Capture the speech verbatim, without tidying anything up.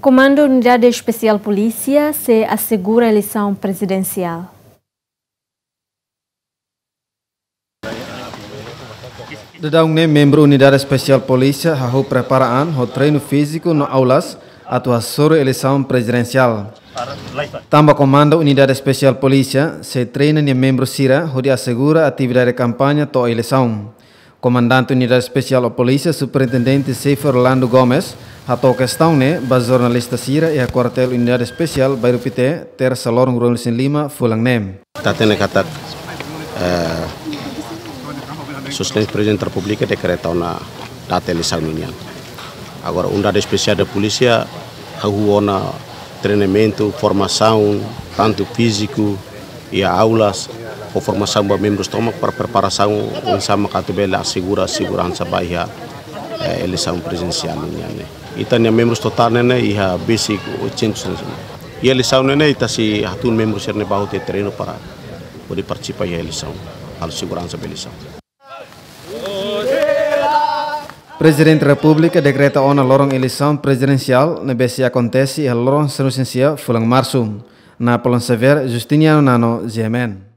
Komandu Unidade Espesiál Polísia sei asegura eleisaun prezidensiál. Daudaun ne'e membru Unidade Espesiál Polísia hahú prepara an ho treinu fíziku no aulas atu hasoru eleisaun prezidensiál. Tanba Komandu Unidade Espesiál Polísia sei treina nia membru sira hodi asegura atividade kampaña to'o eleisaun. Komandante Unidade Espesiál Polísia, Superintendente Xefe Orlando Gomes, hato'o kestaun ne'e ba jornalista sira iha Kuartél Unidade Espesiál Bairru Pité, Tersa loron ruanulu-resin-lima fulan ne'e. Ita hatene katak, eh, Sua Exelénsia Prezidente Repúblika dekreta ona data eleisaun ninian. Agora, Unidade Espesiál Polísia hahú ona treinamentu, formasaun, tantu fíziku, iha aulas, ho formasaun ba membrus tomak para preparasaun oinsá mak atu bele asegura seguransa ba iha, eh, eleisaun prezidensiál ninian ne'e. Ita-nia membrus totál ne'e iha besik oitocentos. Iha eleisaun ne'e ita sei hatún membrus sira-ne'e ba hotu treinu para hodi partisipa iha eleisaun, halo seguransa ba eleisaun. Prezidente Repúblika dekreta ona loron eleisaun prezidensiál ne'ebé sei akontese iha loron sanulu-resin-sia fulan Marsu. Napoleon Xavier, Justiniano Nano, G M N.